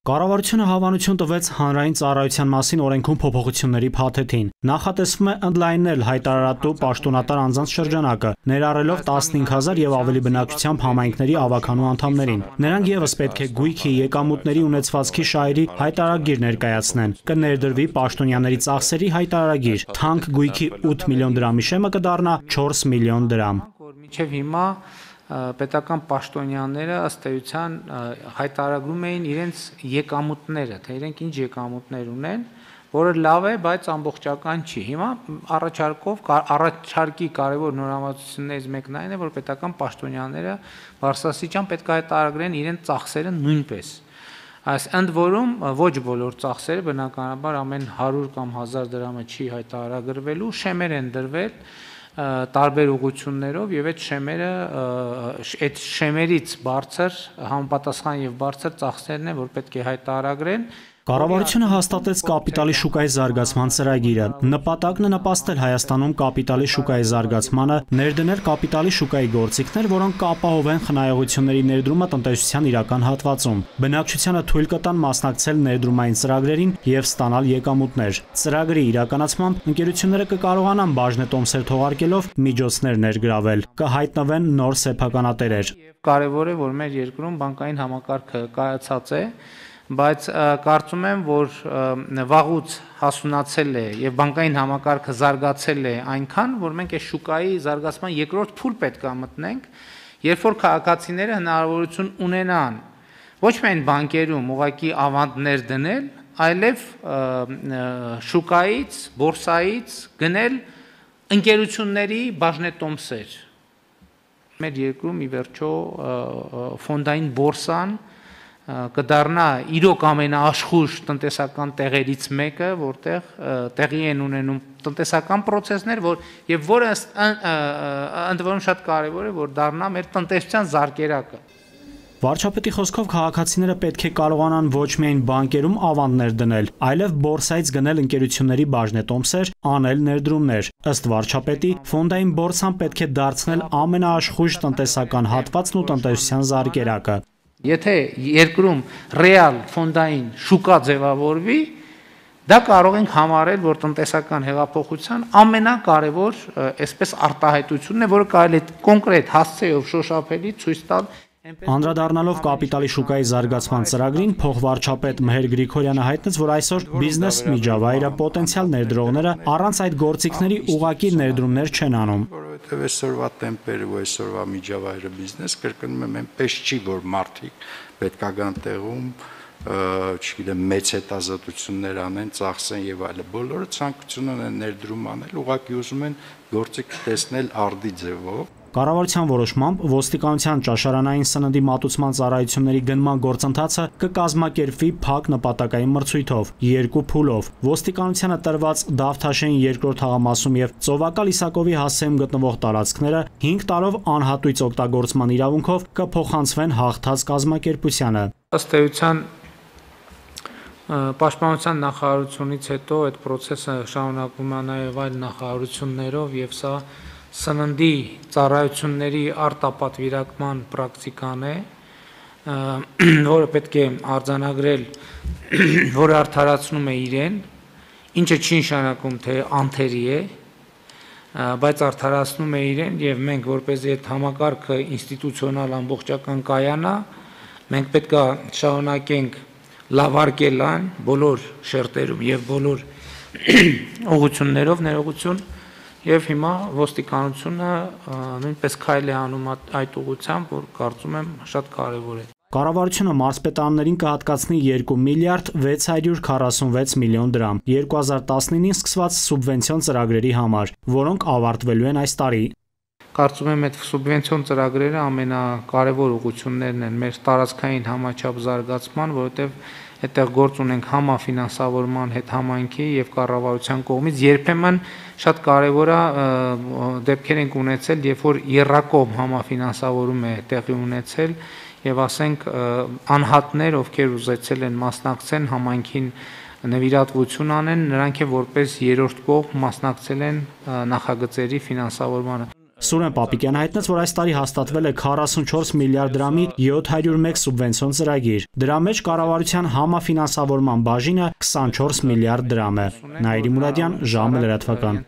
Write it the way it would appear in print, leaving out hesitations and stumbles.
Կառավարությունը հավանություն տվեց հանրային ծառայության մասին օրենքում փոփոխությունների փաթեթին։ Նախատեսվում է ընդլայնել հայտարարատու պաշտոնատար անձանց շրջանակը, ներառելով 15,000 եւ ավելի բնակչությամբ համայնքների ավականու անդամներին։ Նրանք եւս պետք է գույքի, եկամուտների ունեցվածքի շահերի հայտարարագիր ներկայացնեն։ Կներդրվի պաշտոնյաների ծախսերի հայտարարագիր։ Թանկ գույքի 8 միլիոն դրամի շեմը կդառնա 4 միլիոն դրամ։ Մինչև հիմա պետական պաշտոնյաները ըստ էության հայտարարում էին իրենց եկամուտները, թե իրենք ինչ եկամուտներ ունեն, որը լավ է, բայց ամբողջական չի։ Հիմա առաջարկի կարևոր նորամուծություններից մեկն այն է, որ պետական պաշտոնյաները բարձրաստիճան պետք է հայտարարեն իրենց ծախսերը նույնպես։ Այս ընդ որում ոչ բոլոր ծախսերը բնականաբար ամեն 100 կամ 1000 դրամը չի հայտարարագրվելու, շեմեր են դրվել տարբեր ուղղություններով եւ այդ շեմերից բարձր համապատասխան եւ բարձր ծախսերն են, որ պետք է հայտարարեն։ Կառավարությունը հաստատեց կապիտալի շուկայի զարգացման ծրագիրը։ Նպատակն է նպաստել Հայաստանում կապիտալի շուկայի զարգացմանը, ներդնել կապիտալի շուկայի գործիքներ, որոնք կապահովեն խնայողությունների ներդրումը տնտեսության իրական հատվածում։ Բնակչությանը թույլ կտան մասնակցել ներդրումային ծրագրերին եւ ստանալ եկամուտներ։ Ծրագրի իրականացմամբ ընկերությունները կկարողանան բաժնետոմսեր թողարկելով միջոցներ ներգրավել, կհայտնվեն նոր սեփականատերեր։ Կարևոր է, որ մեր երկրում բանկային համակարգը կայացած է, բայց կարծում եմ, որ վաղուց հասունացել է եւ բանկային համակարգը զարգացել է այնքան, որ մենք այս շուկայի զարգացման երկրորդ փուլ պետք է մտնենք, երբ որ քաղաքացիները հնարավորություն ունենան ոչ միայն բանկերում ուղղակի ավանդներ դնել, այլև շուկայից, բորսայից գնել ընկերությունների բաժնետոմսեր։ Մեր երկրում ի վերջո ֆոնդային բորսան կդառնա իրոք ամենաաշխույժ տնտեսական տեղերից մեկը, որտեղ տեղի են ունենում տնտեսական process-ներ, եւ որը ընդ որում շատ կարեւոր է, որ դառնա մեր տնտեսության զարկերակը։ Վարչապետի խոսքով քաղաքացիները պետք է կարողանան ոչ միայն բանկերում ավանդներ դնել, այլև բորսայից գնել ընկերությունների բաժնետոմսեր, անել ներդրումներ։ Ըստ վարչապետի, ֆոնդային բորսան պետք է դարձնել ամենաաշխույժ տնտեսական հատվածն ու տնտեսության զարկերակը։ Եթե երկրում ռեալ ֆոնդային շուկա ձևավորվի, դա կարող ենք համարել, որ տնտեսական հեղափոխության ամենակարևոր այսպես արտահայտությունն է, որը կարելի է կոնկրետ հասցեով շոշափելի ցույց տալ։ Անդրադառնալով կապիտալի շուկայի զարգացման ծրագրին, փոխվարչապետ Մհեր Գրիգորյանը հայտնեց, որ այսօր բիզնես միջավայրը պոտենցիալ ներդրողները առանց այդ գործիքների ուղղակի ներդրումներ չեն անում։ Որովհետև այսօրվա տեմպերը ու այսօրվա միջավայրը բիզնես կրկնում եմ, այնպես չի, որ մարդիկ պետքական տեղում չգիտեմ մեծ հետազոտություններ անեն, ծախսեն եւ այլն։ Բոլորը ցանկություն ունեն ներդրում անել, ուղղակի ուզում են գործիք տեսնել արդի ձևով։ Կառավարության որոշմամբ ոստիկանության ճաշարանային սննդի մատուցման ծառայությունների գնման գործընթացը կկազմակերպվի փակ նպատակային մրցույթով, 2 փուլով։ Ոստիկանությանը տրված Դավթաշեն 2-րդ թաղամասում եւ Ծովակալ Իսակովի հասցեում գտնվող տարածքները 5 տարով անհատույց օգտագործման իրավունքով կփոխանցվեն հաղթած կազմակերպությանը։ Ըստ էության Պաշտպանության նախարարությունից հետո այդ process-ը շարունակվում է նաեւ այլ նախարարություններով եւ սա սննդի ծառայությունների արտապատվիրակման պրակտիկան է, որը պետք է արձանագրել, որը արդարացնում է իրեն, ինչը չի նշանակում, թե անթերի է, բայց արդարացնում է իրեն եւ մենք որպեսզի այդ համակարգը ինստիտուցիոնալ ամբողջական կայանա, մենք պետք է շարունակենք լավարկել այն բոլոր շերտերում եւ բոլոր ուղղություններով ներողություն Եվ հիմա ոստիկանությունը նույնպես քայլ է անում այդ ուղղությամբ, որ կարծում եմ շատ կարևոր է։ Կառավարությունը մարզպետարաններին կհատկացնի 2 միլիարդ 646 միլիոն դրամ 2019-ին սկսված սուբվենցիոն ծրագրերի համար, որոնք ավարտվելու են այս տարի։ Կարծում եմ այդ սուբվենցիոն ծրագրերը ամենակարևոր ուղղություններն են մեր տարածքային համաչափ զարգացման, որովհետև այդտեղ գործ ունենք համաֆինանսավորման հետ համայնքի եւ կառավարության կողմից երբեմն շատ կարեւոր է դեպքեր ենք ունեցել, երբ որ երրակողմ համաֆինանսավորում է տեղի ունեցել եւ ասենք անհատներ, ովքեր ուզեցել են մասնակցեն համայնքին նվիրատվություն անեն, նրանք որպես երրորդ կողմ մասնակցել են նախագծերի ֆինանսավորմանը։ Սուրեն Պապիկյանը հայտնեց, որ այս տարի հաստատվել է 44 միլիարդ դրամի 701 սուբվենցիոն ծրագիր։ Դրա մեջ կառավարության համաֆինանսավորման բաժինը 24 միլիարդ դրամ է։ Նաիրի Մուրադյան, ժամը լրատվական։